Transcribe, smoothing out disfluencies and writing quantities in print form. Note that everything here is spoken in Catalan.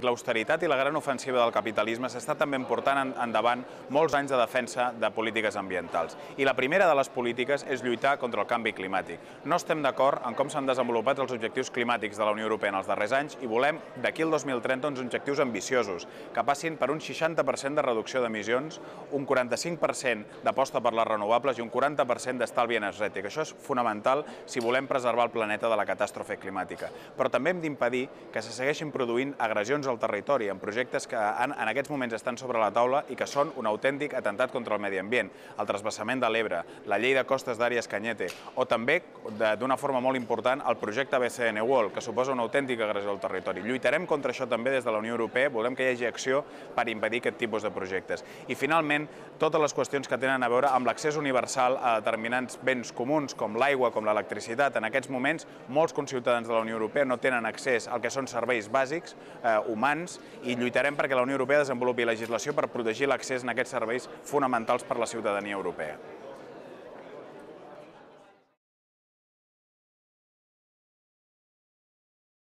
L'austeritat i la gran ofensiva del capitalisme s'està també portant endavant molts anys de defensa de polítiques ambientals. I la primera de les polítiques és lluitar contra el canvi climàtic. No estem d'acord en com s'han desenvolupat els objectius climàtics de la Unió Europea en els darrers anys i volem, d'aquí al 2030, uns objectius ambiciosos, que passin per un 60% de reducció d'emissions, un 45% d'aposta per les renovables i un 40% d'estalvi energètic. Això és fonamental si volem preservar el planeta de la catàstrofe climàtica. Però també hem d'impedir que se segueixin produint agressions al territori en projectes que en aquests moments estan sobre la taula i que són un autèntic atemptat contra el medi ambient. El transvasament de l'Ebre, la llei de costes d'Àrees Cañete o també, d'una forma molt important, el projecte BCN World, que suposa una autèntica agressió al territori. Lluitarem contra això també des de la Unió Europea, volem que hi hagi acció per impedir aquest tipus de projectes. I finalment, totes les qüestions que tenen a veure amb l'accés universal a determinats béns comuns com l'aigua, com l'electricitat. En aquests moments, molts conciutadans de la Unió Europea no tenen accés al que són serveis bàsics, humans, i lluitarem perquè la Unió Europea desenvolupi legislació per protegir l'accés a aquests serveis fonamentals per a la ciutadania europea.